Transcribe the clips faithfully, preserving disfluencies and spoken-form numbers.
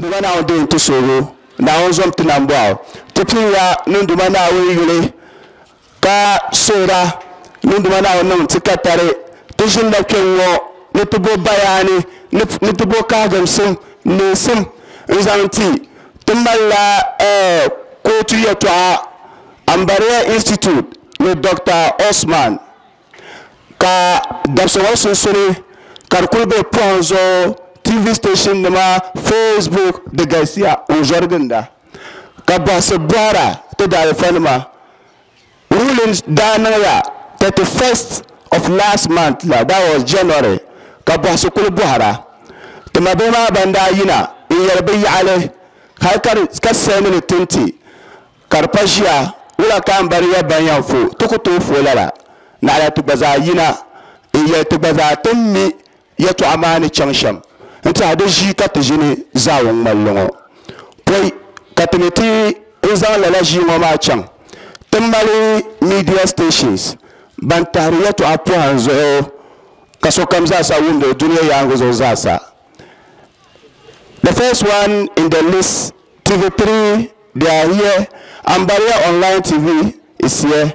Nduma Naawuni din ti soogo Naawuni zom ti nambɔɣu ti piliya ni Nduma Naawuni yuli ka suhura ni Nduma Naawuni niŋ ti ka tari ti ʒinila kpɛŋ ŋɔ ni ti bo bayaani ni ti bo kahigimsim neesim n zaŋ ti ti malila kootu yɛltɔɣa Ambariya Institute ni Doctor Osman ka dabisi ŋɔ sunsuuni ka di kuli be pɔhim zuɣu T V station nima Facebook di galisiya n zɔri ginda ka bɔhisi bɔhira ti daalifa nima ruling daa niŋya thirty-first of last month la, that was January, ka bɔhisi kuli bɔhira ti ma bihi maa ban daa yina n yɛli bi yaɣali hali ka sɛndi ni tinti ka di pa ʒiya wula ka Ambariya ban yɛn fo ti ku tooi fo lala naɣila ti gba zaa yina n yɛli ti gba zaa ti mi yɛltɔɣa maa ni chaŋ shɛm n tiɛha di ʒii ka ti ʒini zaawun ŋmalli ŋɔ pɔi ka ti mi ti n zaŋ lala ʒii ŋɔ maa chaŋ ti mali media stations ban tahiri yɛltɔɣa pɔhim zuɣu ka sokam zaasa wumdi dunia yaangi zuɣu zaasa. The first one in the list, T V three, they are here. Ambariya Online T V is here.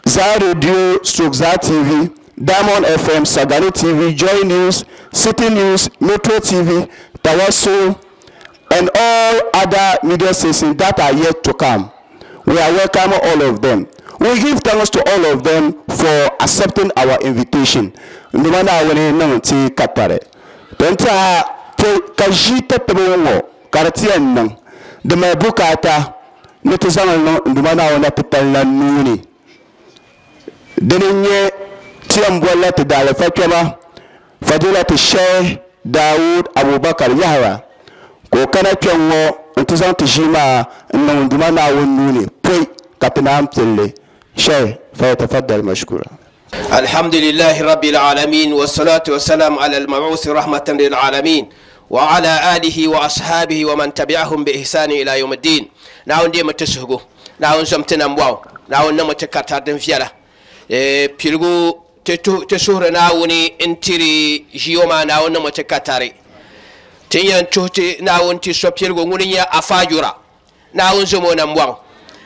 Zaa Radio, stroke Zaa T V, Diamond F M, Sagani T V, Joy News, City News, Metro T V, Tawasul, and all other media stations that are yet to come. We are welcoming all of them. We give thanks to all of them for accepting our invitation. Nduma Naawuni niŋ ti katari. Tɔnta ka ʒii tatibi ŋɔ ka di ti yɛn niŋ di mali bukaata ni ti zaŋ niŋ Nduma Naawuni la titali la nuuni. Dini n-nyɛ ti yɛn bolila ti daalifa kpɛma Fadilati Sheikh Dawood Abubakar Yahaya ka o kana kpɛŋ ŋɔ n-ti zaŋ ti ʒii maa n-niŋ Nduma Naawuni nuuni pɔi ka ti naan pilli. Sheikh, falyatafaddal mashkura. الحمد لله رب العالمين والصلاة والسلام على المبعوث رحمة للعالمين وعلى آله وأصحابه ومن تبعهم بإحسان إلى يوم الدين. ناون دي متسهجو ناون زمتنا مواو ناون نمتكاتر دم فيلا بيلغو تسهر ناوني انتري جيوما ناون نمتكاتري تيان تشوتي ناون تسو بيلغو نونيا أفاجورا ناون زمونا مواو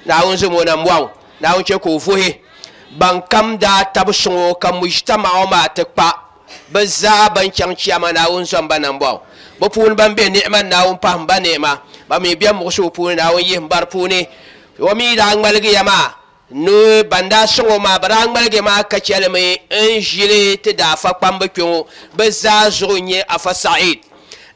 ناون زمونا مواو ناون تشكو فوهي ban kam daa tabi suŋo ka mujtamaɣu maa ti kpa bi zaa ban chaŋ chiyama Naawuni zɔmba nambɔɣu bi puuni ban be ni'ima Naawuni pahim ba ni'ima ba mi be muɣusigu puuni Naawuni yihim bari puuni o mi daa ŋmaligiya maa ni ban daa suŋo maa bi daa ŋmaligi maa ka chɛlimi n ʒili ti daa afa kpambi kpɛŋɔ bi zaa zuɣu n-nyɛ Afa Said.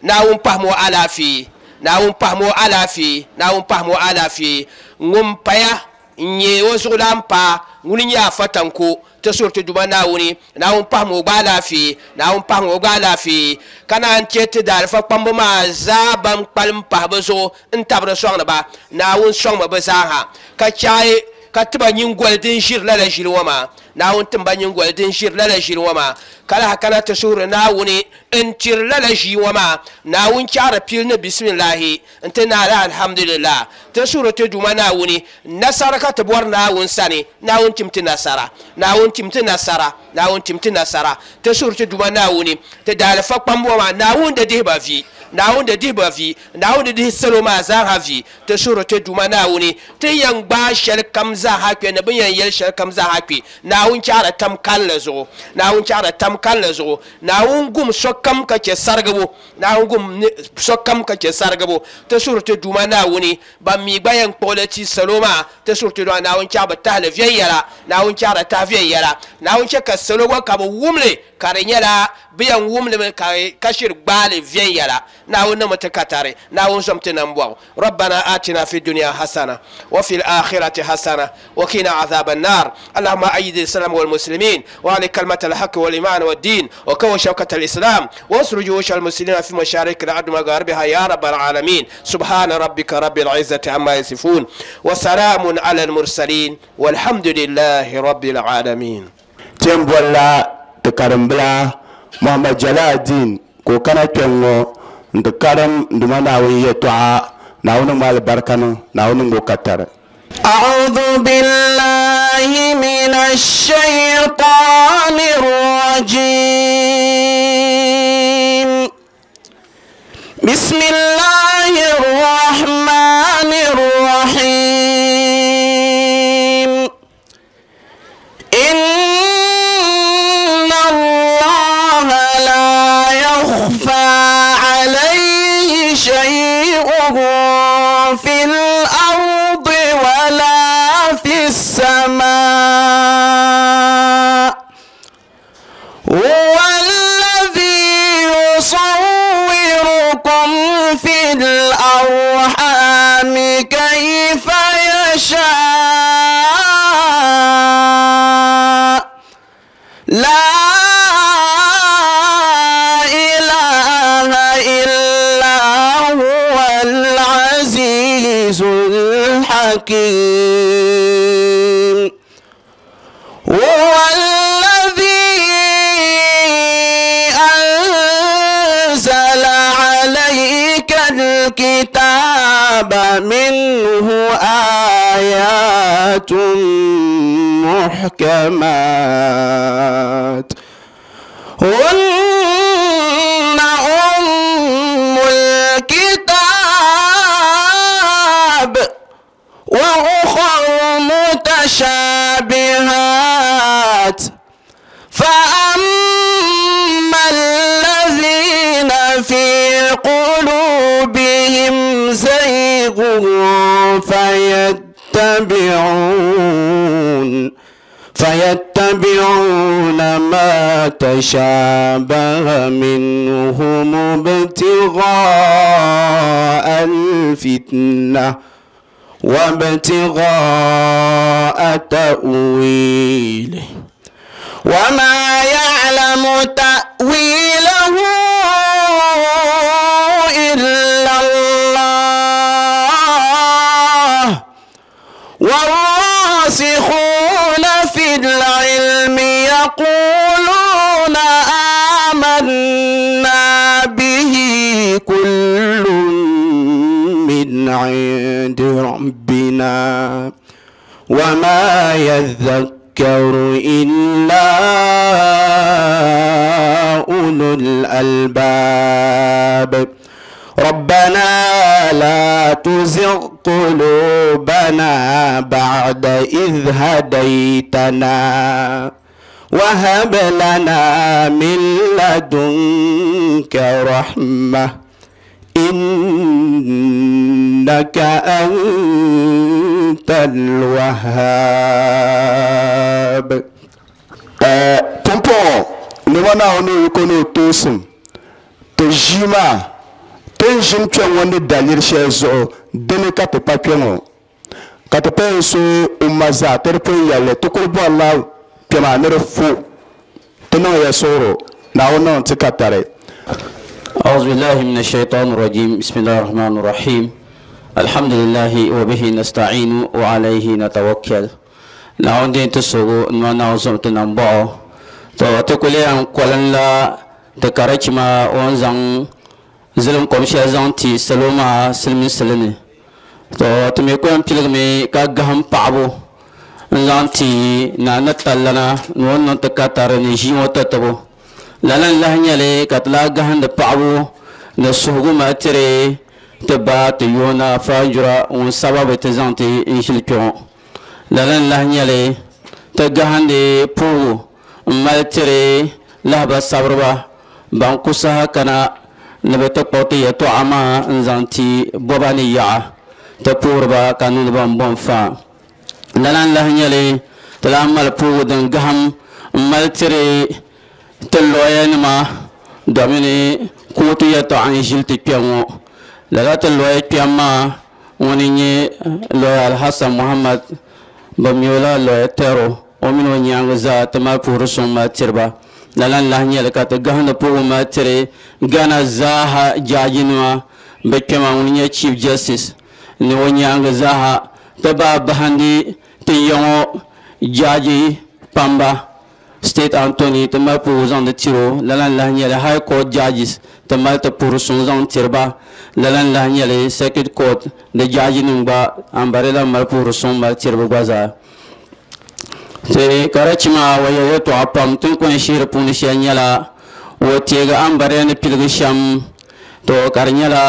Naawuni pahim o alaafee Naawuni pahim o alaafee Naawuni pahim o alaafee ŋun paya n-nyɛ o zuɣulan paa ŋuni nyɛ Afa Tanko ti suri ti Duma Naawuni Naawuni pahim o gba alaafee Naawuni pahim o gba alaafee ka naan chɛ ti daalifa kpambi maa zaa ban kpalim pahi bi zuɣu n tabiri sɔŋdi ba Naawuni sɔŋmi bi zaa ha ka chɛhi ka tiba nyingoli din ʒiri lala ʒili ŋɔ maa Naawuni tim ba nyingoli din ʒiri lala ʒili ŋɔ maa ka lahi kana ti suhuri Naawuni n tiri lala ʒii ŋɔ maa Naawuni chaɣari pili ni bisimilahi n ti naala alhamdulillah ti suhuri ti Duuma Naawuni nasara ka ti bɔri Naawuni sani Naawuni tim ti nasara Naawuni tim ti nasara Naawuni tim ti nasara ti suhuri ti Duuma Naawuni ti daalifa kpambi ŋɔ maa Naawuni di dihi ba vi Naawuni di dihi ba vi Naawuni di dihi salo maa zaa ha vi ti suhuri ti Duuma Naawuni ti yɛn gbaai shɛli kam zaa ha kpɛ ni bi yɛn yɛli shɛli kam zaa ha kpɛ Naawuni chaɣari tam kalinli zuɣu Naawuni chaɣari tam kalinli zuɣu Naawuni gum sokam ka chɛ sarigibu Naawuni gum sokam ka chɛ sarigibu ti suhuri ti Duuma Naawuni ban mi gba yɛn kpuɣili ti salo maa ti suhuri ti Duuma Naawuni chaɣi bi tahali viɛnyɛla Naawuni chaɣari tahi viɛnyɛla Naawuni chɛ ka salo gba ka bi wumli ka di nyɛla bi yɛn wumlimi ka shiri gbaali viɛnyɛla Naawuni niŋmi ti katari Naawuni zɔm ti nambɔɣu. ربنا آتنا في الدنيا حسنة وفي الآخرة حسنة وقنا عذاب النار. اللهم أيد الإسلام والمسلمين وعلى كلمة الحق والإيمان والدين وكو شوكة الإسلام وانصر جيوش المسلمين في مشارق الأرض ومغاربها يا رب العالمين. سبحان ربك رب العزة عما يصفون وسلام على المرسلين والحمد لله رب العالمين. تيمبولا تكرمبلا محمد جلال الدين كو كان كينغو ندكرم ندمنا ويتوعا ناونو مال بركانو ناونو كتر. أعوذ بالله من الشيطان الرجيم. بسم الله شيء في الأرض ولا في السماء هو الذي يصوركم في الأرحام كيف يشاء لا إله إلا هو العزيز الحكيم هو الذي أنزل عليك الكتاب منه آيات محكمات هن أم الكتاب وأخر متشابهات فأما الذين في قلوبهم زيغ فيتبعون فيتبعون ما تشابه منهم ابتغاء الفتنة وابتغاء تأويله وما يعلم تأويله إلا الله والراسخون في العلم يقولون آمنا به كل من عند ربنا وما يذكر إلا أولو الألباب ربنا لا تزغ قلوبنا بعد إذ هديتنا وهب لنا من لدنك رحمة إنك أنت الوهاب. Pumpɔŋɔ nima Naawuni ni yiko ni o toosim ti ʒii maa ti ni ʒini kpɛŋ ŋɔ ni daliri shɛli zuɣu dini ka ti pa kpɛŋɔ ka ti pun so umma zaa ti di pun yɛlli ti kuli bɔrila kpɛ maa ni di fo ti niŋ ya suɣuro Naawuni niŋ ti ka tari. أعوذ بالله من الشيطان الرجيم بسم الله الرحمن الرحيم الحمد لله وبه نستعين وعليه نتوكل نعود تسوغو نونا تنبعو تو تقولي أن قولن لا تكرچما وانزان زلم قمشي زان تي سلوما سلمي سلمي تو تميكون بيلغمي كاغهم پابو زان تي نانا تلنا نون تكاتر نجي وتتبو لالن لهنيالي كتلا غهند پابو نسوغو ما تري تبا تيونا فاجرا ون سبب تزانتي انشلكون لالن لهنيالي تغهند پو مالتري لهبا صبربا بانكو سها كنا نبت قوتي يتوعما انزانتي بوباني يا تپوربا كانون بام بام فا لالن لهنيالي تلامل پو دن غهم مالتري تلوينما دوميني كوتي يتوعن جلتي بيامو للا تلوي بياما ونيني لوي الحسن محمد بميولا لوي تيرو ومن ونيانغ زا تما پورسون ما تربا لالان لهنيا لكات غهن پو ما تري غانا زاها جاجينوا بكما ونيا chief justice ni ونيانغ زاها تبا بهندي تيونو جاجي pamba state Anthony tama puzan de tiro lalan lahnyale high court judges tama te purusun zan tirba lalan lahnyale circuit court de judge nungba ambarela mal purusun mal tirba gwaza te karachima waya to apam tun kun shir pun shanyala wote ga ambare ne pilgi sham to karnyala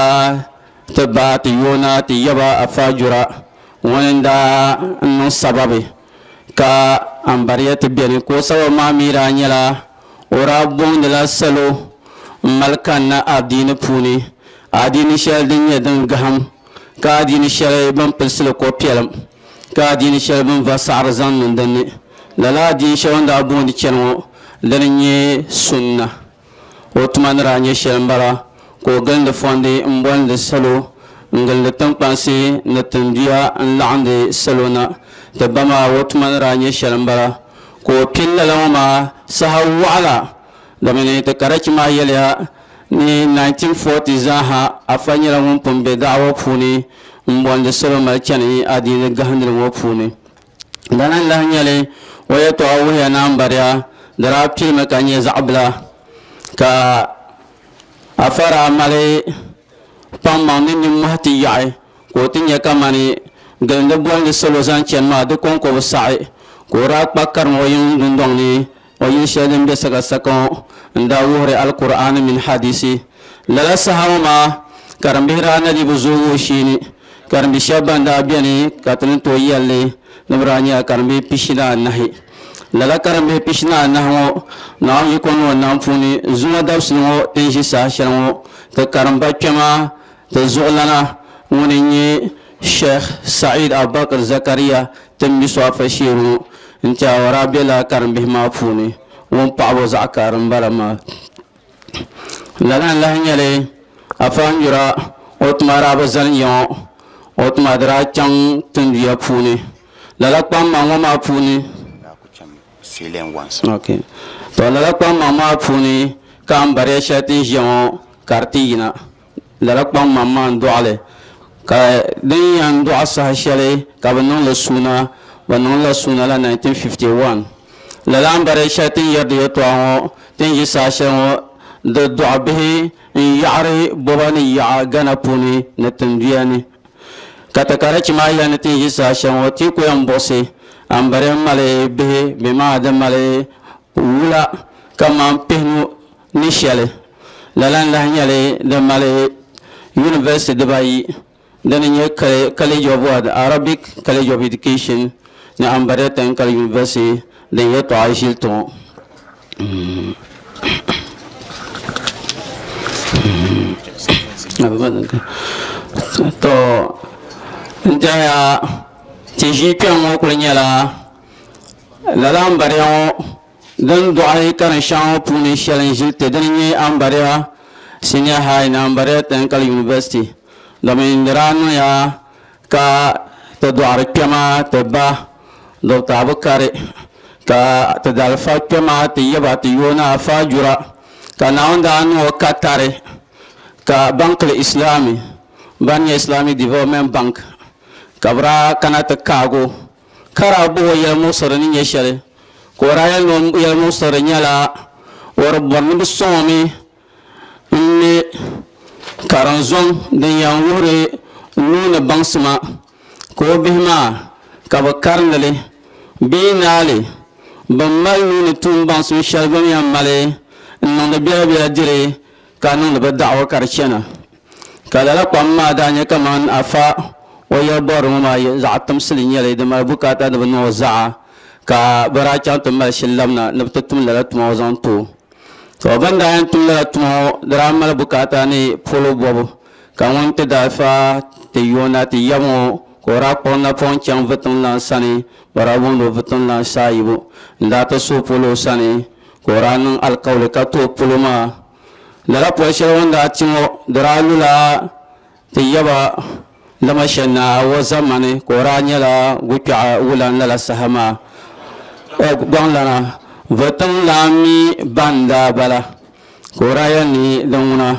te ba te yona te yaba afajura wanda no sababe ka ambariya te beni ko sawa ma mira nyala ora bonde la salo malkan na adini puni Adiini shɛli din nyɛ din gaham ka adiini shɛli bin pilisili ko piɛlim ka adiini shɛli bin va saɣari zaŋ niŋ dinni lala adiini shɛli o ni daa booni chɛni ŋɔ dini n nyɛ sunna o tuma ni daa nyɛ shɛli n bala ka o gilindi fondi n bolindi salo n gilindi tinkpansi ni tinduya n laɣindi salo na ti ba maa o tuma ni daa nyɛ shɛli n bala ka o pili lala ŋɔ maa saha waɣala domini ti karachi maa yɛliya ni nineteen forty zaaha afa nyɛla ŋun pun be da'awa puuni n bolindi salo mali chɛni adiini gahindili ŋɔ puuni dana n lahi nyɛli o yɛltɔɣa wuhiya ni ambariya di daa pilimi ka nyɛ zaɣ bila ka afa daa mali kpaŋmaŋ ni nimmohi ti yaɣi ka o ti nyɛ kamani gilindi bolindi salo zaŋ chɛni maa di kɔŋko bi saɣi ka o daa kpa karim o yiŋ dundɔŋ ni o yili shɛli din be sakasaka ŋɔ n daa wuhiri alkur'ani mini hadisi lala saha ŋɔ maa karimbihi daa na di bi zoogi o sheeni karimbi shɛba ban daa beni ka ti ni tooi yɛlli ni bi daa nyɛla karimbihi pishi ni anahi lala karimbihi pishi ni anahi ŋɔ Naawuni yiko ni o nam puuni zuŋɔ dabisili ŋɔ ti ni ʒi saha shɛli ŋɔ ti karimba kpɛma ti zuɣulana ŋuni n nyɛ Sheikh Said Abubakar Zakaria ti mi so afa sheeri ŋɔ n tiɛha o daa bela karimbihi maa puuni ŋun paɣaba zaɣ kari n bala maa lala n lahi nyɛli afa n yura o tuma daa bi zani ya ŋɔ o tuma di daa chaŋ tinduya puuni lala kpaŋmaŋ ŋɔ maa puuni okay to lala kpaŋmaŋ maa puuni ka ambariya shɛli ti ni ʒiya ŋɔ ka di ti yina lala kpaŋmaŋ maa n dɔɣili ka din yɛn dɔɣi saha shɛli ka bi niŋli suuna bi niŋla suuna la nineteen fifty one lala ambariya shɛli ti ni yɛri di yɛltɔɣa ŋɔ ti ni ʒi saha shɛli ŋɔ di dɔɣi bihi n yaɣari bɔba ni yaɣa Ghana puuni ni tinduya ni ka ti karachi maa yɛli ni ti ni ʒi saha shɛli ŋɔ ti ku yɛn buɣisi ambariya mali bihi bɛ maa di mali wula kamani pihinu ni shɛli lala n lahi nyɛli di mali university dibayi dini nyɛ College of what Arabic College of Education ni Ambariya Technical University din yɛltɔɣa ʒili ti ŋɔ to n tɛhiya ti ʒii kpɛŋ ŋɔ kuli nyɛla lala ambariya ŋɔ din dɔɣi karin shɛŋa ŋɔ puuni shɛli n ʒili ti dini nyɛ Ambariya Senior High ni Ambariya Technical University domin di daa niŋya ka ti dɔɣiri kpɛma ti ba Doctor Abukari ka ti dalifa kpɛma ti yaba ti yoona afa jura ka Naawuni daa niŋ o katari ka bankili Islami ban nyɛ Islamic Development Bank ka bi daa kana ti kaago ka daa bɔh o yɛlimuɣisiri ni nyɛ shɛli ka o daa yɛli ni o yɛlimuɣisiri nyɛla o di bɔri ni bi sɔŋ o mi n me karinzɔŋ din yɛn wuhiri nuuni baŋsima ka o bihi maa ka bi karindi li bee naali bin mali nuuni tuun baŋsim shɛli bi ni yɛn mali n niŋdi biɛla biɛla diri ka niŋdi bi daɣu ka di chɛna ka lala kpam maa daa nyɛ kamani afa o yɛli bɔrili ŋɔ maa zaɣ timsili nyɛli di mali bukaata ni bi niŋ o zaɣa ka bi daa chaŋ ti mali shili labina ni bi ti tum lala tuma ŋɔ zaŋ ti o to bin daa yɛn tum lala tuma ŋɔ di daa mali bukaata ni polo bɔbu ka ŋun ti daa fa ti yoona ti yɛm ŋɔ ka o daa kpuɣi napɔŋ chaŋ vitiŋ sani bi daa booni o vitiŋ saayibu n daa ti suhi polo o sani ka o daa niŋ alikawli ka ti o polo maa lala poli shɛli o ni daa ti ŋɔ di daa lula ti yaba lama shɛli na o zamani ka o daa nyɛla gukpɛɣu wulan lala saha maa gbaŋlana vitiŋ mi ban daa bala ka o daa yɛli ni din ŋuna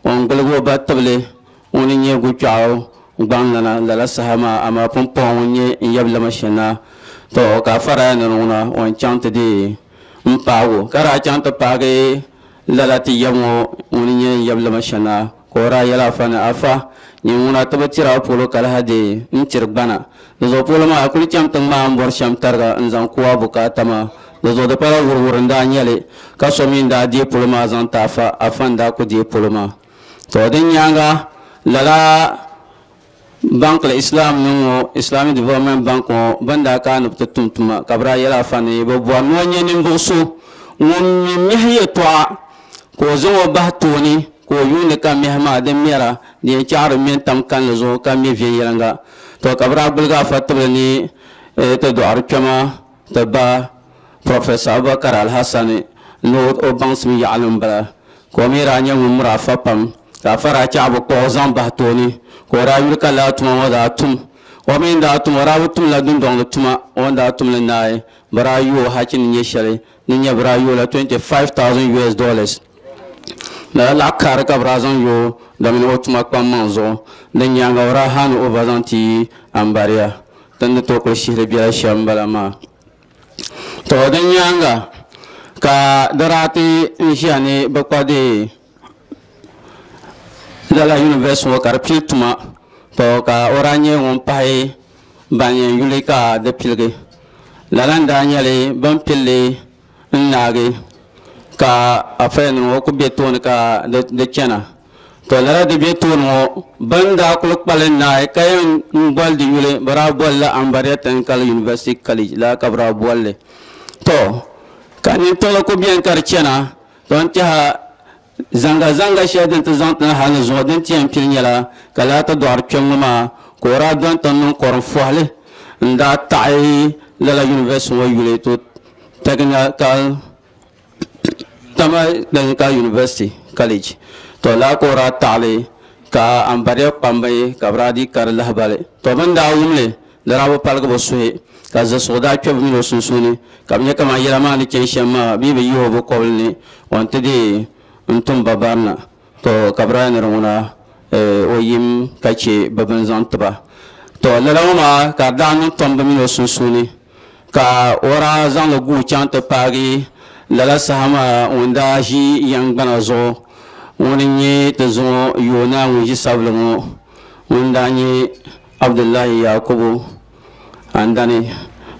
o ni giligi o ba tibili ŋuni nyɛ gukpɛɣu gbaŋlana lala saha maa amaa pumpɔŋɔ ŋun nyɛ n yɛbi lama shɛli na to ka afa daa yɛli ni ŋuna o ni chaŋ ti deei n paagi o ka daa chaŋ ti paagi lala ti yɛbi ŋɔ ŋuni nyɛ n yɛbi lama shɛli na ka o daa yɛli afa ni afa nyɛ ŋuna ti bi tiri a polo ka lahi deei n tiri gbana di zuɣu polo maa a kuli chaŋ ti ŋmaa n bɔri shɛm tariga n zaŋ ku a bukaata maa di zuɣu di pala wuruwuru n daa nyɛli ka so mi n daa deei polo maa zaŋ ti afa afa n daa ku deei polo maa to din nyaanga lala bankili Islam ni ŋɔ Islamic Development Bank ŋɔ bin daa kana ni bi ti tum tuma ka bi daa yɛli afa ni bi bɔri ni o nyɛ ninvuɣu so ŋun mi mihi yɛltɔɣa ka o zaŋ o bahi tooni ka o yuuni ka mihi maa din mɛra di yɛn chaɣari mɛ n-tam kanli zuɣu ka mɛ viɛnyɛliŋga to ka bɛ daa gbuligi afa tibili ni ti dɔɣiri kpɛma ti ba Professor Abubakar Alhassani ni o baŋsim yaɣali m-bala ka o mi daa nyɛ ŋun miri afa pam ka afa daa chaɣi bi kpuɣi o zaŋ bahi tooni ka o daa yuli ka lala tuma ŋɔ daa tum o mi daa tum o daa bi tumla dundɔŋ ni tuma o ni daa tumli naai bɛ daa yo o hachi ni nyɛ shɛli ni nyɛ bɛ daa yo la twenty-five thousand U S dollars lala laɣ kari ka bɛ daa zaŋ yo domini o tuma kpaŋmaŋ zuɣu din nyaaŋa o daa haani o ba zaŋ ti Ambariya din ni tooi kuli shihiri biɛla shɛm m-bala maa to din nyaaŋa ka di daa ti n ʒiya ni bɛ kpa deei lala university ŋɔ ka di pili tuma to ka o daa nyɛ ŋun pahi ban yɛn yuli ka di piligi lala n daa nyɛli bin pilli n naagi ka afayanim ŋɔ ku be tooni ka di chana to lala di be tooni ŋɔ bin daa kuli kpali naai ka yɛn boli di yuli bɛ daa bolila Ambariya Technical University College la ka bɛ daa bolli to ka nintiɣili ku beni ka di chana to n tɛha zanga zanga shɛli din ti zaŋ ti na hali ni zuɣu din ti yɛn pili nyɛla ka lala ti dɔɣiri kpɛm ŋɔ maa ka o daa dɔni ti niŋ kɔrim fɔhili n daa taɣi lala university ŋɔ yuli to Technical Tama Technical University College to lala ka o daa taɣili ka Ambariya kpambi ka bɛ daa dii kari lahibali to bɛ ni daa wumli di daa bi paligi bɛ suhi ka zasuɣu daa kpe bɛ mini o sunsuuni ka bɛ nyɛ kamani yɛla maa ni chani shɛm maa bɛ bi yihi o bɛ kɔbili ni o ni ti deei n tum ba barina to ka bɛ daa ni di ŋuna o yim ka che bɛ bini zaŋ tiba to lala ŋɔ maa ka di daa niŋ tom bɛ mini o sunsuuni ka o daa zaŋli guui chaŋ ti paagi lala saha maa ŋun daa ʒi yɛn gbana zuɣu ŋuni n-nyɛ ti zuŋɔ yoona ŋun ʒi sabili ŋɔ ŋun daa nyɛ Abdullahi Yakubu Andani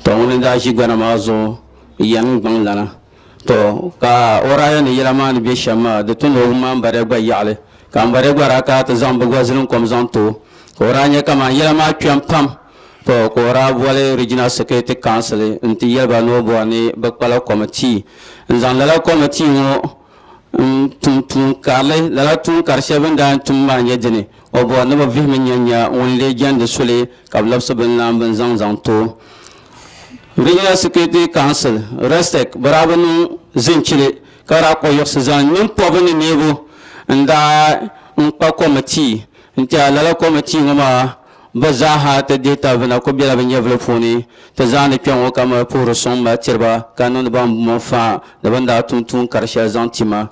to ŋuni daa ʒi gbana maa zuɣu yɛn gbaŋ lana to ka o daa yɛn ni yɛla maa ni be shɛm maa di tu ni o wum Ambariya gba yaɣili ka Ambariya gba daa kana ti zaŋ bɛ gba zilinkom zaŋ ti o ka o daa nyɛ kamani yɛla maa kpɛm pam to ka o daa boli Regional Security Council n-ti yɛli ba ni o bɔri ni bɛ kpala committee n zaŋ lala committee ŋɔ n tum tuun karili lala tuun kari shɛli bɛ ni daa tum maa nyɛ dini o bɔri ni bɛ vihimi nya nya ŋun lee jɛndi soli ka bɛ labisi bini lan bini zaŋ zaŋ ti o Regional Security Council RESTEC bɛ daa bi niŋ zinchili ka daa kpuɣi yiɣisi zaŋ nimpɔbu ni neebu n daa n kpa committee n tiɛha lala committee ŋɔ maa bɛ zaaha ti dihi tabi bɛ na ku bela bɛ nyɛvili puuni ti zaandi kpɛŋ ŋɔ ka mali puhiri suŋ mali tiriba ka niŋdi ban mɔ faa ni bɛ ni daa tum tuun kari shɛli zaŋ ti ma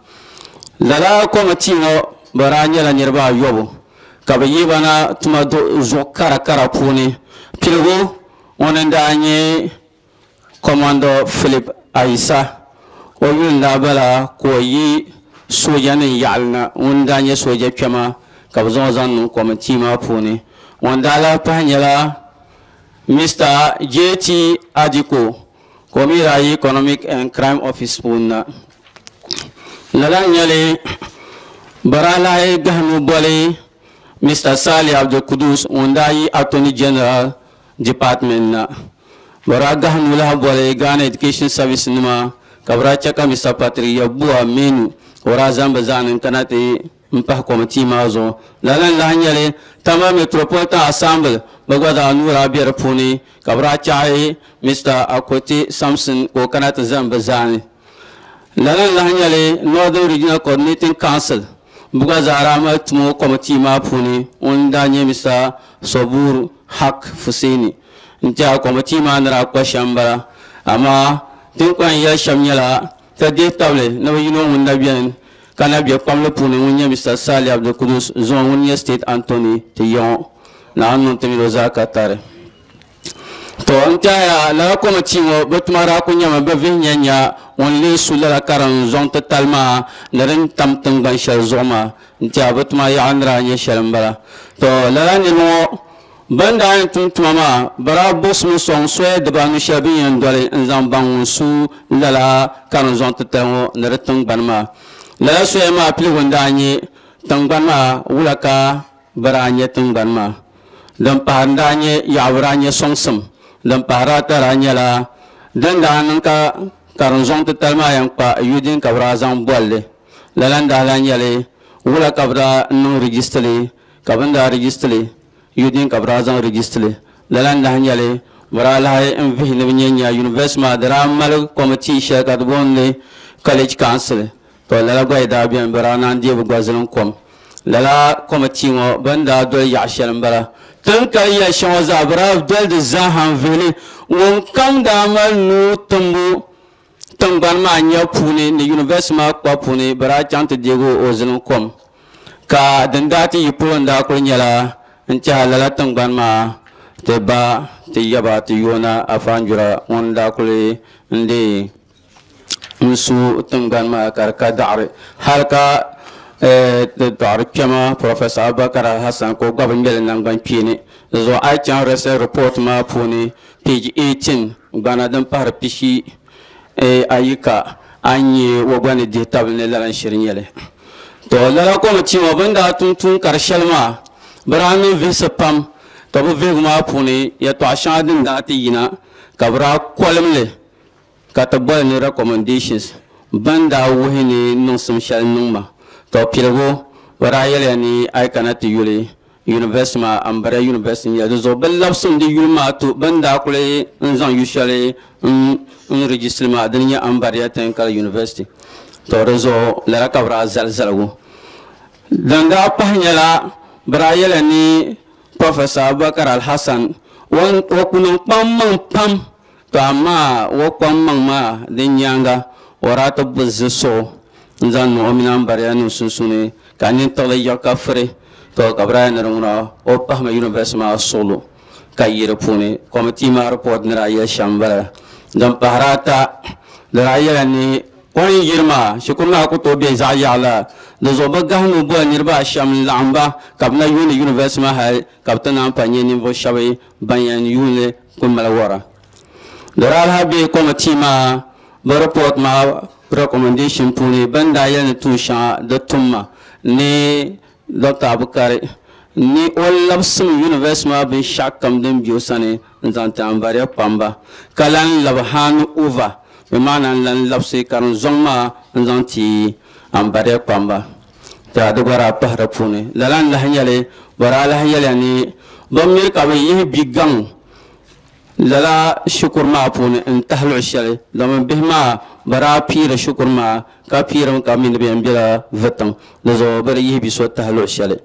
lala committee ŋɔ bɛ daa nyɛla niriba ayɔbu ka bɛ yihi ba na tuma zuɣu kara kara puuni piligu ŋuni n daa nyɛ Commodore Philip Ayisa o yuli n daa bala ka o yi soojanima yaɣali na ŋun daa nyɛ sooja kpɛma ka bɛ zaŋ o zaŋ niŋ committee maa puuni ŋun daa lahi pahi nyɛla Mister J T Adiko ka o mi daa yi Economic and Crime Office puuni na lala n-nyɛli bɛ daa lahi gahimi boli Mister Sali Abdulkudus ŋun daa yi Attorney General Department na bɛ daa gahimi lahi boli Ghana Education Service nima ka bɛ daa che ka Mister Patrick Yeboah Menu ka o daa zaŋ bɛ zaani n-kana ti n pahi committee maa zuɣu lala n-lahi nyɛli Tama Metropolitan Assembly bɛ gba zaa nuu daa be di puuni ka bɛ daa chaɣi Mister Akote Samson ka o kana ti zani bɛ zaani lala n-lahi nyɛli Northern Regional Coordinating Council bɛ gba zaa daa mali tumo committee maa puuni ŋun daa nyɛ Mister Sobur Hak Fuseni n-tiɛha committee maa ni daa kpa shɛm m-bala amaa din kɔŋ yɛli shɛm nyɛla ti dihi tabili ni bɛ yino ŋun na beni ka na be kpamli puuni ŋun nyɛ Mister Sali Abdulkudus zuɣu ŋun nyɛ State Attorney ti yaŋɔ Naawuni niŋ ti mini o zaa ka tari to n tɛhaya lala committee ŋɔ bɛ tuma daa ku nyɛmi bɛ vihi nya nya ŋun lee su lala karim zɔŋ titali maa ni din tam tingbani shɛli zuɣu maa n tɛha bɛ tuma yaɣa ni daa nyɛ shɛli m-bala to lala niriba ŋɔ bɛn daa yɛn tum tuma maa bɛ daa buɣisimi sɔŋ soya dibaanu shɛli bɛ ni yɛn doli n zaŋ baŋ ŋun su lala karim zɔŋ titali ŋɔ ni di tingbani maa lala soya maa piligu n daa nyɛ tingbani maa wula ka bɛ daa nyɛ tingbani maa din pahari n daa nyɛ yaɣa bɛ daa nyɛ sɔŋsim din pahari ata daa nyɛla din daa niŋ ka karim zɔŋ titali maa yɛn kpa yudin ka bɛ daa zaŋ bolli lala n daa lahi nyɛli Wula ka bi daa niŋ registry ka bin daa registry yudin ka bi daa zaŋ registry lala n lahi nyɛli bi daa lahi n vihi ni bi nyɛ nya university maa di daa mali committee shɛli ka di booni college council to lala gba yi daa biɛni bi daa naan deei bi gba zilim kom lala committee ŋɔ bin daa doli yaɣa shɛli n bala tin kali ya shɛŋa zaa bi daa doli di zaaha n vihili ŋun kam daa mali nuu timbu tingbani maa nya puuni ni university maa kpa puuni bi daa chaŋ ti deegi o zilim kom ka din daa ti yi polo n daa kuli nyɛla n tiɛha lala tingbani maa ti ba ti yaba ti yoona afanjura ŋun daa kuli n deei n su tingbani maa ka di ka daɣari hali ka daɣari kpɛma Professor Abubakar Hassan ka o gba bi ŋmɛli nangbani kpeeni di zuɣu a yi chaŋ research report maa puuni page eighteen gbana din pahari pishi ayi ka a ni nyɛ o gba ni dihi tabili ni lala n shiri nyɛli to lala committee ŋɔ bin daa tum tuun kari shɛli maa bi daa niŋ vihisi pam ka bi vihigu maa puuni yɛltɔɣa shɛŋa din daa ti yina ka bi daa kolim li ka ti boli ni recommendations ban daa wuhi ni niŋsim shɛli niŋ ma to piligu bi daa yɛliya ni a yi kana ti yuli university maa Ambariya University n nyɛli di zuɣu bi labisimi di yuli maa to bin daa kuli n zaŋ yu shɛli n registry maa dini nyɛ Ambariya Technical University to di zuɣu lala ka bi daa zali zaligu din daa pahi nyɛla bi daa yɛliya ni Professor Abubakar Al-Hassan o ku niŋ kpaŋmaŋ pam to amaa o kpaŋmaŋ maa din nyaanga o daa ti bi zi suɣu n zaŋ niŋ o mini Ambariya nim sunsuuni ka nintiɣili yiɣi ka firi to ka bi daa ni di ŋuna o pahimi university maa suɣulu ka yi di puuni committee maa report ni daa yɛli shɛm n bala din pahari ata di daa yɛla ni o ni yiri maa shikuru maa ku tooi bɛ zaɣ yaɣa la di zuɣu bi gahami boli niriba ashɛm n laɣim ba ka bi na yuuni university maa hali ka bi ti naan pa nyɛ ninvuɣu shɛba ban yɛn yuuni ku mali wara di daa lahi bɛ committee maa bi report maa recommendation puuni ban daa yɛli ni tuun shɛŋa di tumma ni Doctor Abukari ni o labisimi university maa binshaɣu kam din bɛ o sani n zaŋ ti Ambariya kpamba ka lan labi hand over bi maana n lan labisi ka di zɔŋ maa n zaŋ ti Ambariya kpamba ta di gba daa pahi di puuni lala n lahi nyɛli bi daa lahi yɛliya ni bi miri ka bi yihi bi gaŋ lala shikuru maa puuni n tahi luɣu shɛli domin bihi maa bi daa piiri shikuru maa ka piirimi ka mi ni bi yɛn bɛla vitiŋ di zuɣu bi di yihi bi so tahi luɣu shɛli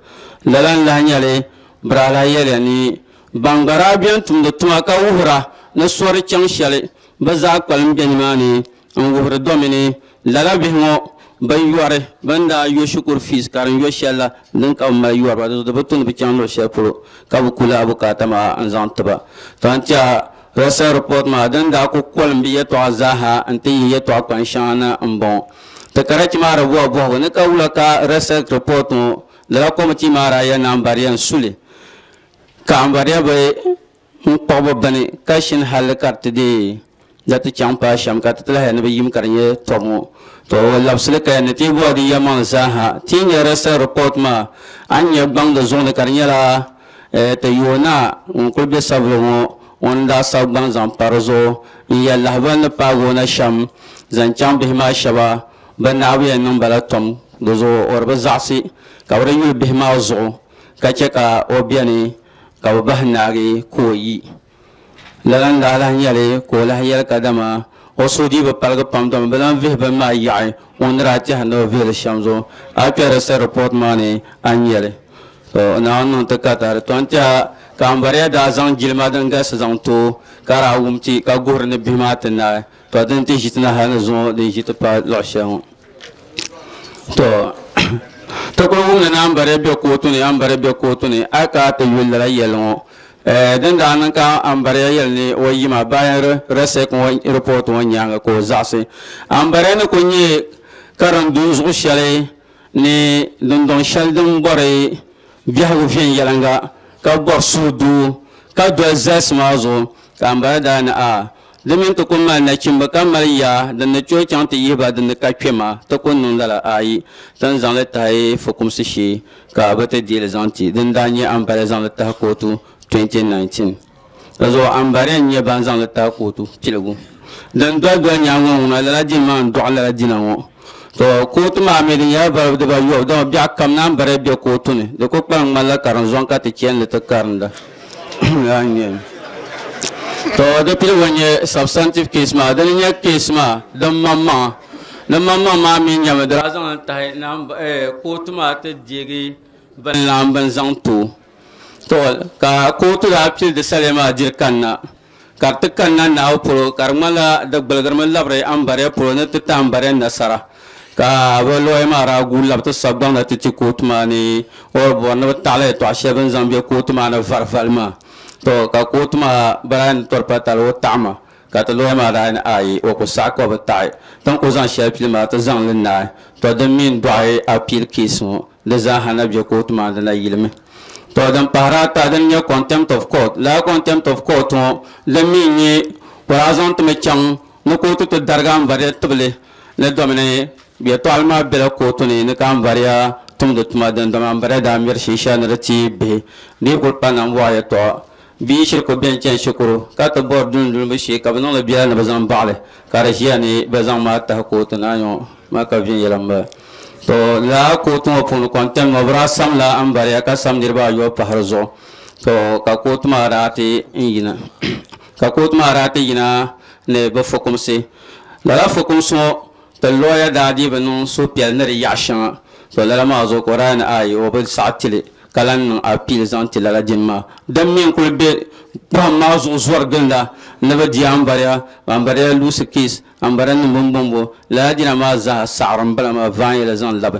lala n lahi nyɛli bi daa lahi yɛliya ni ban gba daa bɛni tumdi tuma ka wuhira ni sori chaŋ shɛli bi zaa kpalim bɛ nimaani n wuhiri domini lala bihi ŋɔ bin yɔri bin daa yo shikuru fees ka din yo shɛli la din ka bi mali yɔriba di zuɣu bi tumdi bi chaŋ luɣu shɛli polo ka bi kuli abukaata maa n zaŋ tiba to n tiɛha research report maa din daa ku kolim bi yɛltɔɣa zaaha n ti yihi yɛltɔɣa kpan shɛŋa na n bɔŋɔ ti karachi maa di bɔhi bɔhigu ni ka wula ka research report ŋɔ lala committee maa daa yɛli ni Ambariya n suli ka Ambariya bi n kpuɣi bi bini ka shini halli ka di ti deei da ti chaŋ paai shɛm ka ti ti lahi ni bi yim ka di nyɛ tɔbu ŋɔ to o labisili ka ni ti bɔhi di yɛlimaŋli zaaha ti nyɛ research report maa a ni nyɛ gbaŋ di zuɣu ni ka di nyɛla ti yoona ŋun kuli bɛ sabili ŋɔ ŋun daa sabi gbaŋ zaŋ pa di zuɣu n yɛli lahibali ni paagi o na shɛm zaŋ chaŋ bihi maa shɛba bi naabu yɛn niŋ bala tom di zuɣu o di bi zaɣasi ka bi di yuli bihi maa zuɣu ka chɛ ka o biɛni ka bi bahi naagi ka o yi lala n daa lahi nyɛli ka o lahi yɛli kadama o suhu dii bi paligi pam domi bi lan vihi bini maa yaɣi ŋun ni daa tɛhi ni o vihili shɛm zuɣu a kpɛ research report maa ni a ni nyɛli to Naawuni niŋ ti katari to n tiɛha ka Ambariya daa zaŋ jilima din galisi zaŋ to ka daa wum ti ka guhiri ni bihi maa ti naai to din ti ʒi ti na hali ni zuŋɔ din ʒi ti paai luɣu shɛli ŋɔ to ti kuli wumdi ni Ambariya bɛ kootu ni Ambariya bɛ kootu ni a ka ti yuli lala yɛlli ŋɔ din daa niŋ ka Ambariya yɛli ni o yima bayan research ŋɔ report ŋɔ nyaanga ka o zaɣasi Ambariya ni ku nyɛ karim zuɣu shɛli ni dundɔŋ shɛli din bɔri biɛhigu viɛnyɛlinga ka bɔri suhudoo ka doli zalisi maa zuɣu ka Ambariya daa ni a di mini ti ku mali nachimba ka mali yaa din ni tooi chaŋ ti yihi ba din ni ka kpɛ maa ti ku niŋ lala ayi ti ni zaŋli tahi fukumsi shee ka bi ti deeli zaŋ ti din daa nyɛ Ambariya zaŋli tahi kootu twenty nineteen di zuɣu Ambariya n nyɛ ban zaŋli tahi kootu piligu din doli doli nyaanga ŋɔ ŋuna lala dini maa n dɔɣi lala dina ŋɔ To kootu maa mi di nyɛla balibu dibaayobu dama biɛɣu kam naan bari be kootu ni di ku kpalim ŋmanila karinzɔŋ ka ti chani li ti karinda. To di piligu n-nyɛ substantive case maa dini nyɛ case maa din maŋmaŋa din maŋmaŋ maa mi nyɛmi di daa zaŋli tahi kootu maa ti deegi bin laɣim bin zaŋ ti o. To ka kootu daa pili di saliya maa diri kanna ka di ti kanna naabu polo ka di ŋmanila di gbuligirimi labiri ambariya polo ni ti ti ambariya nasara ka bi looya maa daa guui labi ti sabi gbaŋ na ti ti kootu maa ni o bɔri ni bi taɣili yɛltɔɣa shɛli bin zaŋ bɛ kootu maa ni varivali maa. To ka kootu maa bi daa ni tɔri pa tali o taɣima ka ti looya maa daa ni ayi o ku saɣi ka bi taɣi tin ku zaŋ shɛli pili maa ti zaŋ li naai. To din mi n-dɔɣi appeal case ŋɔ di zaaha na bɛ kootu maa di na yilimi. To din pahiri ata din nyɛ contempt of court lala contempt of court ŋɔ din mi nyɛ o daa zaŋ timi chaŋ ni kootu ti darigi ambariya tibili ni domini yɛltɔɣali maa bela kootu ni ni ka ambariya tumdi tuma din dama ambariya daa miri shee ni di ti bihi di yi kuli pa nambɔɣu yɛltɔɣa bia shiri ku beni chani shikuru ka ti bɔri dundunibu shee ka bɛ niŋli biɛla ni bɛ zaŋ baɣali ka di ʒiya ni bɛ zaŋ maa tahi kootu ni anyɔ maa ka viɛnyɛla m-bala. To lala kootu ŋɔ puuni contempt ŋɔ bɛ daa samla ambariya ka sam niriba ayɔbu pahiri zuɣu. To ka kootu maa daa ti yina ka kootu maa daa ti yina ni bɛ fukumsi. Lala fukumsi ŋɔ ti looya daa dii bi niŋ suhupiɛlli ni di yaɣa shɛŋa. To lala maa zuɣu ka o daa ni ayi o bi saɣi tili ka lan niŋ appeal zaŋ ti lala dini maa. Din mi n-kuli be pɔhim maa zuɣu zɔri ginda ni bi di ambariya ambariya luusi case ambariya nim bimbɔŋbo lala dina maa zaa saɣiri m-bala maa vaanyɛla zaŋ labi.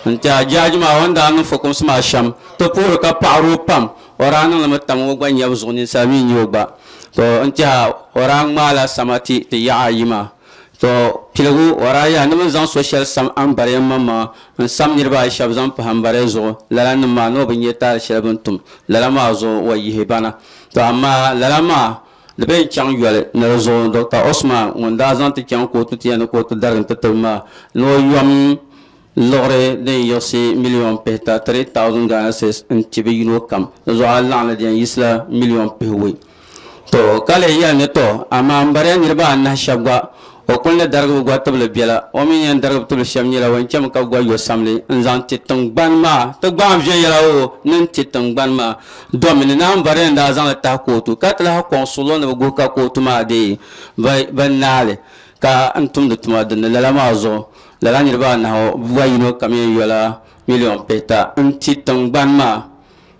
N-ti a jaaji maa o ni daa niŋ fukumsi maa shɛm ti puhiri ka paɣiri o pam o daa niŋlimi tam o gba nyabu zuɣu ninsal mi n-nyɛ o gba. To n-ti a o daa ŋmaala sama ti ti yaɣa ayi maa. To piligu o daa yaa ni bɛ zaŋ so shɛli sam ambariya maŋmaŋa n-sam niriba ayi shɛba zaŋ pahi ambariya zuɣu lala nim maa ni o bi nya taali shɛli bɛ ni tum lala maa zuɣu o yihi bana. To amaa lala maa di bɛ n-chaŋ yoli ni di zuɣu Doctor Osman ŋun daa zaŋ ti chaŋ kootu ti ya ni kootu darigi n-ti tibi maa ni o yom liɣiri din yiɣisi miliyon pihita three thousand Ghana cedis n-ti bi yino kam di zuɣu a laɣim li din yiɣisila miliyon pihiwei. To ka leei yɛli ni to amaa ambariya niriba anahi shɛba gba o kuli ni darigi bi gba tibili biɛla o mi yɛn darigi tibili shɛm nyɛla o chami ka gba yo samli n-zaŋ ti tingbani maa ti gbaam viɛnyɛla o ni n-ti tingbani maa domini ni ambariya n daa zaŋli tahi kootu ka ti lahi kɔŋ suɣulo ni bi guhi ka kootu maa deei bi naali ka n tumdi tuma dinni lala maa zuɣu lala niriba anahi gba yino kam yɛn yola miliyon pihita n-ti tingbani maa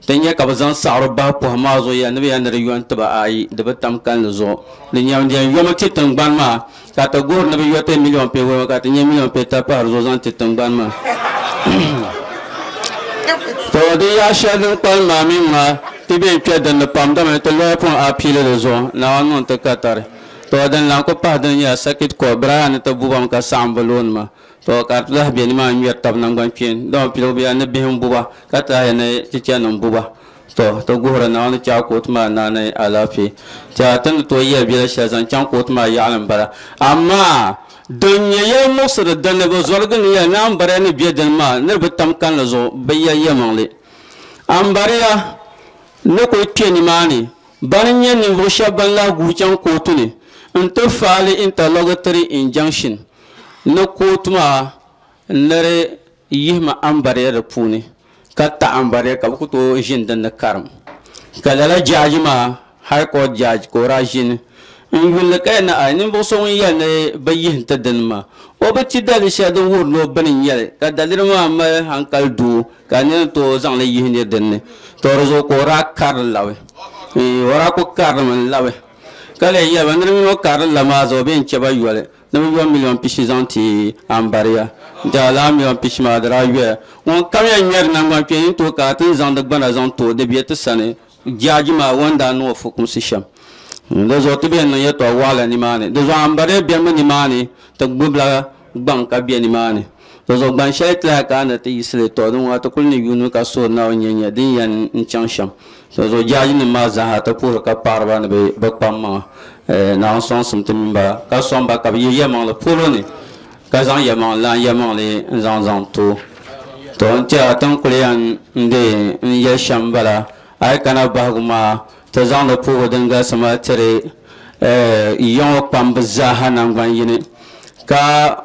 ti nyɛ ka bi zaŋ saɣiri bahi pɔhim maa zuɣu ya ni bi yɛn ni di yo n-ti ba ayi di bi tam kalinli zuɣu di nyɛmi di yɛn yomi ti tingbani maa ka ti guhiri ni bi yo ti miliyon pihiwei ka ti nyɛ miliyon pihita pahiri zuɣu zaŋ ti tingbani maa. To di yaɣa shɛli din kpalim maa mi ŋmaa ti bɛ n-kpɛ dinni pam dama ti looya pun apiili di zuɣu Naawuni niŋ ti katari. To din lan ku pahi dini nyɛla circuit court bɛ daa yaa ni ti bubami ka saɣim bi looni maa. To ka ti lahi be nimaa ŋmɛri tabi nangban kpeeni dama piligu bɛ yaa ni bihi m-buba ka ti lahi ni chichanima buba. To ti guhiri Naawuni chaɣ kootu maa naani alaafee. Ti ti ni tooi yɛli biɛla shɛli zaŋ chaŋ kootu maa yaɣili m-bala amaa din nyɛ yɛli muɣisiri dinni bi zɔrigi ni yɛli ni ambariya ni be dini maa ni di bi tam kalinli zuɣu bi yɛli yɛlimaŋli. Ambariya ni kuli kpe nimaani bani n-nyɛ ninvuɣ shɛba ban lahi guui chaŋ kootu ni n-ti faali interlocutory injunction ni kootu maa ni di yihimi ambariya di puuni ka taɣi ambariya ka bɛ ku tooi ʒini dinni karim. Ka lala jaaji maa high court judge ka o daa ʒini n-yulli ka yɛli ni ai ninvuɣ so ŋun yɛli ni bɛ yihi n-ti dini maa o bi ti daliri shɛli din wuhiri ni o bini n-nyɛli ka daliri maa mali hankali doo ka nira ni tooi zaŋli yihi niri dinni. To di zuɣu ka o daa karili labi o daa ku karilimi n-labi ka leei yɛli ba niriba mini o karili la maa zuɣu bɛ yɛn chɛ ba yoli ni bɛ yo miliyon pishi zaŋ ti ambariya n-ti lala miliyon pishi maa di daa yoya ŋun kam yɛn ŋmɛri nangban kpeeni n-tooi ka ti ni zaŋdi gbana zaŋ ti o di be ti sani jaaji maa o ni daa niŋ o fukumsi shɛm. Di zuɣu ti bɛ niŋ yɛltɔɣa waɣala nimaani di zuɣu ambariya bɛmi nimaani ti gbubila gbaŋ ka be nimaani di zuɣu gban shɛli ti lahi ka ni ti yiɣisili tɔ din ŋɔ ti kuli ni yuuni ka soori Naawuni nyɛ nyɛ din yɛn n-chaŋ shɛm. Di zuɣu jaaji nim maa zaaha ti puhiri ka paɣiriba ni bɛ kpaŋ maŋa Naawuni sɔŋsim ti mini ba ka sɔŋ ba ka bɛ ye yɛlimaŋli polo ni ka zaŋ yɛlimaŋli lan yɛlimaŋli n-zaŋ zaŋ ti o. To n-tiɛha ti ni kuli yɛn n-deei n-yɛli shɛm bala a yi kana bahigu maa ti zaŋdi puhigu din galisi maa tiri yiŋɔ kpambi zaaha nangban yini ka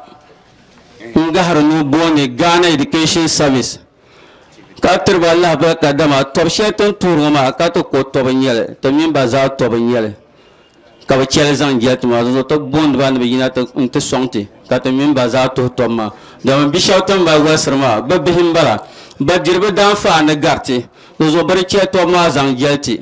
N gahari nuu booni Ghana Education Service ka tiriba lahabali ka dama tɔbu shɛli ti ni tuuri ŋɔ maa ka ti ko tɔbu n nyɛli ti mini ba zaa tɔbu n nyɛli ka bi chɛli zaŋ jɛli ti maa zuɣu ti booni ba ni bi yina n ti sɔŋ ti ka ti mini ba zaa tuhi tɔbu maa domin bi shɛba ti ni mali walisiri maa bi bihi n bala bi diri bi daanfaani gariti di zuɣu bi di chɛli tɔbu maa zaŋ jɛli ti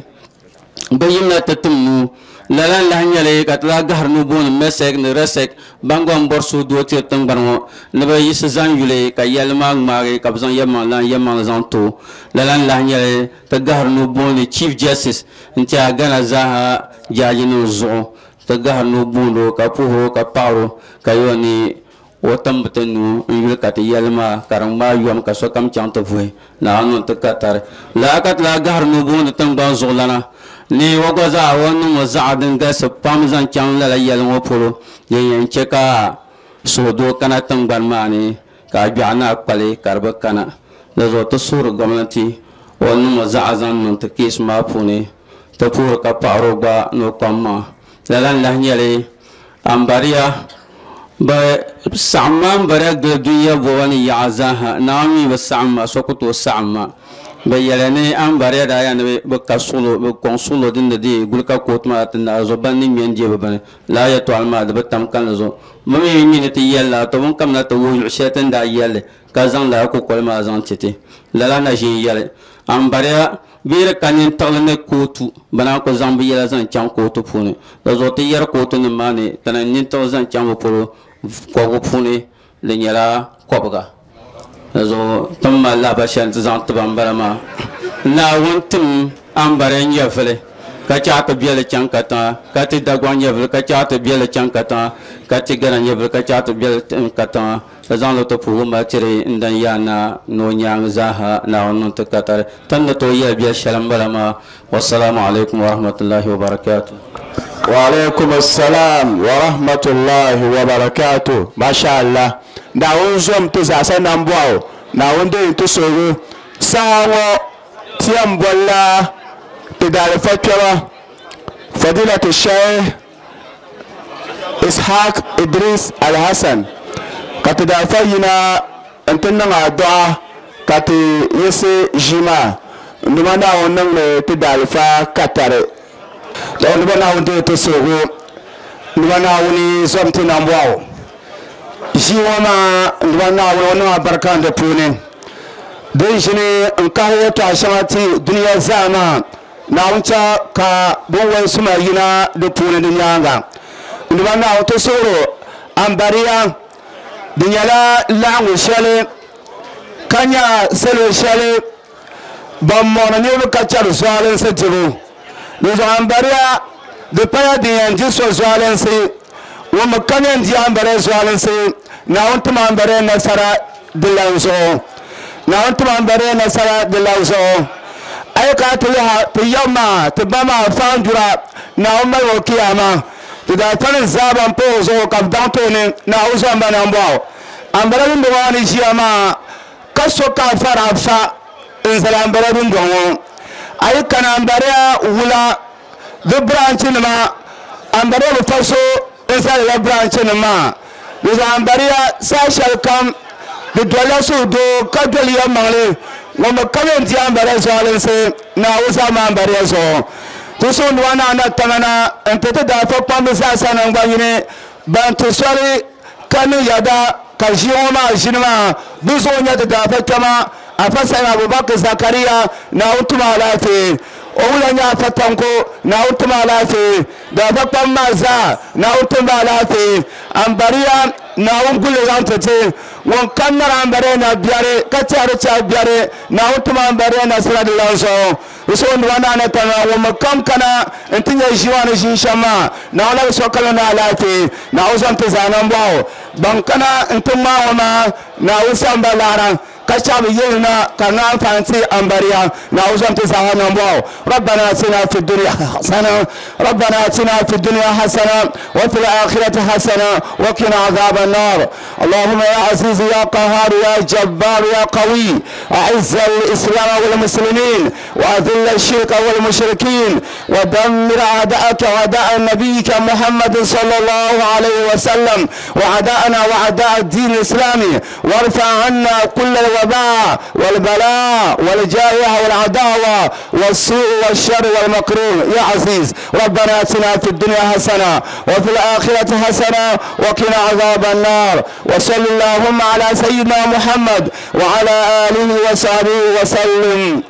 bi yimla ti tim nuu lala n lahi nyɛli ka ti lahi gahari nuu booni mesek ni resek ban gba n bɔri suhudoo tiri tingbani ŋɔ ni bi yiɣisi zaŋ yuli ka yɛlli maa ŋmaagi ka bi zaŋ yɛlimaŋli lan yɛlimaŋli zaŋ to lala n lahi nyɛli ti gahari nuu booni Chief Justice n tiɛha Ghana zaaha jaaji nim zuɣu ti gahari nuu booni o ka puhiri o ka paɣari o ka yɔ ni o timbi ti nuu n yuli ka ti yɛlli maa ka di ŋmaai yom ka sokam chaŋ ti vuhi Naawuni niŋ ti ka tari lala ka ti lahi gahari nuu booni tingbani zuɣulana ni o gba zaa o niŋ o zaɣa din galisi pam zaŋ chaŋ lala yɛli ŋɔ polo din yɛn chɛ ka suhudoo kana tingbani maa ni ka a gbiɛɣu naa kpali ka di bi kana di zuɣu ti suhuri gomnati o niŋ o zaɣa zaŋ niŋ ti keesi maa puuni ti puhiri ka paɣari o gba ni o kpam maa lala n lahi nyɛli ambariya bi saɣam maa ambariya gili dunia bɔba ni yaɣa zaaha Naawuni mi bi saɣam ma so ku tooi saɣam ma bi yɛli ni ambariya daa yaa ni bi ka suɣulo bi kɔŋ suɣulo din ni deei guli ka kootu maa ti naai zuɣu ban ni ŋmɛ n deei bi bini lala yɛltɔɣali maa di bi tam kanli zuɣu bi mi mi ni ti yɛli la to bin kamina ti wuhi luɣu shɛli ti ni daa yɛlli ka zaŋ lala kukoli maa zaŋ ti ti lala na ʒin yɛli ambariya bee di ka nintiɣili ni kootu bi naan ku zaŋ bi yɛla zaŋ chaŋ kootu puuni di zuɣu ti yɛri kootu nim maa ni ti ni nintiɣili zaŋ chaŋ bi polo kɔbigu puuni di nyɛla kɔbiga di zuɣu ti ni mali lahabali shɛli ti zaŋ tiba n bala maa Naawuni tim ambariya nyɛvili ka chaɣ ti biɛli chaŋ katiŋa ka ti Dagbaŋ nyɛvili ka chaɣ ti biɛli chaŋ katiŋa ka ti Gana nyɛvili ka chaɣ ti biɛli katiŋa ka zaŋ li ti puhigu mali tiri n dan yaa naa ni o nyaangi zaaha Naawuni niŋ ti katari ti ni tooi yɛli biɛli shɛli n bala maa wasalaamu alaikum warahmatullahi wabarakatuh. Wa alaikum assalam wa rahmatullahi wa barakatuh. Masha Allah. Naawuni zom ti zaasa nambɔɣu Naawuni deei ti suhigu saha ŋɔ ti yɛn bolila ti daalifa kpɛma Fadilatu Sheikh Ishaq Idris Alhassan ka ti daalifa yina n ti niŋ adua ka ti yiɣisi ʒii maa nduma Naawuni niŋli ti daalifa katari. Nduma Naawuni deei ti suhigu nduma Naawuni zom ti nambɔɣu ʒii ŋɔ maa nduma Naawuni o niŋ abarika di puuni din ʒini n kahi yɛltɔɣa shɛŋa ti dunia zaa maa Naawuni cha ka binwali suma yina di puuni di nyaanga nduma Naawuni ti suhuri ambariya di nyɛla laɣingu shɛli ka nya salo shɛli ban mɔɣini niriba ka chɛri zualinsi dibu di zuɣu ambariya di paya din yɛn di so zualinsi ŋun mi ka yɛn di ambariya zualinsi Naawuni tim ambariya nasara di lan zuɣu Naawuni tim ambariya nasara di lan zuɣu a yi kana ti liha ti yɛm maa ti ba maa faandura Naawuni mali o kiyama ti daa tani zaaba n pa o zuɣu ka bi daŋ tooni Naawuni zɔmba nambɔɣu ambariya dundɔŋ maa ni ʒiya maa ka so ka fara fa n zali ambariya dundɔŋ ŋɔ a yi kana ambariya wula di branchi nima ambariya bi fa so n zalila branchi nim maa di zuɣu ambariya saha shɛli kam di dolila suhudoo ka doli yɛlimaŋli ŋun bi ka yɛn di ambariya zualinsi Naawuni zaɣima ambariya zuɣu ti suhudoo naa na tamana n ti ti daafa kpambi zaasa nangbanyini ban ti soli ka niŋ yɛda ka ʒii ŋɔ maa ʒini maa bi zuɣu nyɛ ti daafa kpɛma Afa Sa'id Abubakar Zakariya Naawuni tuma alaafee o wula nyɛ Afa Tanko Naawuni tuma alaafee daafa kpam maa zaa Naawuni tumba alaafee ambariya Naawuni guli zaŋ ti ti ŋun kam nari ambariya na biɛri ka tɛhiri chɛhi biɛri Naawuni tuma ambariya nasara di lan zuɣu di suhudoo naa na tana ŋun mi kam kana n ti nyɛ ʒii maa ni ʒii shɛm maa Naawuni labi sokam ni alaafee Naawuni zɔm ti zaa nambɔɣu ban kana n ti ŋmaa ŋɔ maa Naawuni samba laara Ka chabi yelina ka na amfaani ti ambariya. Naawuni zom ti zaaha nambɔɣu. ربنا اتنا في الدنيا حسنة ربنا اتنا في الدنيا حسنة وفي الآخرة حسنة وقنا عذاب النار. اللهم يا عزيز يا قهار يا جبار يا قوي، أعز الإسلام والمسلمين وأذل الشرك والمشركين ودمر أعداءك وأعداء نبيك محمد صلى الله عليه وسلم وأعداءنا وأعداء الدين الإسلامي، وارفع عنا كل الوباء والبلاء والجائحة والعداوة والسوء والشر والمكروه يا عزيز. ربنا اتنا في الدنيا حسنة وفي الآخرة حسنة وقنا عذاب النار. وصل اللهم على سيدنا محمد وعلى آله وصحبه وسلم.